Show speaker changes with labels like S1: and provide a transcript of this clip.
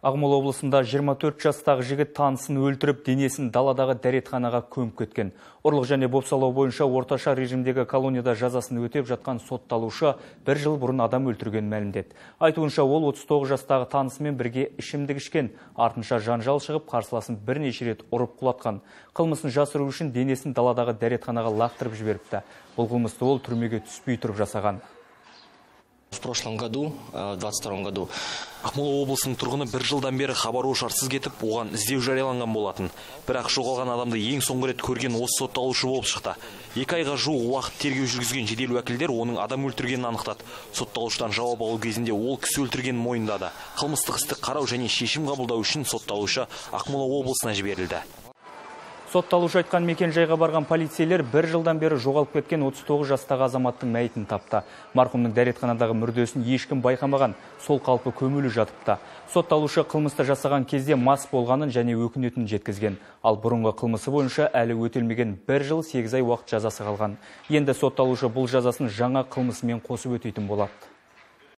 S1: Ақмола облысында 24 жастағы жігіт танысын өлтіріп, денесін даладағы дәретханаға көміп кеткен. Ұрлық және бопсалау бойынша орташа режимдегі колонияда жазасын өтеп жатқан сотталушы 1 жыл бұрын адам өлтірген мәлімдеді. Айтуынша ол 39 жастағы танысымен бірге ішімдік ішкен, артынша жанжал шығып, қарсыласын бірнеше рет ұрып құлатқан. Қылмысын жасыру үшін денесін даладағы дәретханаға лақтырып жіберіпті. Бұл қылмысты ол түрмеге түспей тұрып жасаған.
S2: В прошлом году, в 22 году,
S3: Ақмола облысының тұрғыны 1 жылдан бері хабар-ошарсыз кетіп, оған іздеу жарияланған болатын. Бірақ жоғалған адамды ең соңғы рет көрген осы сотталушы болып шықты. 2 айға жуық уақыт тергеу жүргізген жедел уәкілдер оның адам өлтіргенін анықтады. Сотталушыдан жауап алу кезінде ол кісі өлтіргенін мойындады. Қылмыстық істі қарау және шешім қабылдау үшін сотталушы Ақмола облысына жіберілді.
S1: Сотталушы айтқан мекен-жайға барған полицейлер 1 жылдан бері жоғалып кеткен 39 жастағы азаматтың мәйітін тапты. Марқұмның дәретханадағы мүрдесін ешкім байқамаған, сол қалпы көмулі жатыпты. Сотталушы қылмысты жасаған кезде мас болғанын және өкінетінін жеткізген. Ал бұрынғы қылмысы бойынша әлі өтелмеген 1 жыл 8 ай уақыт жазасы қалған. Енді сотталушы бұл жазасын жаңа қылмысымен қосып өтейтін болады.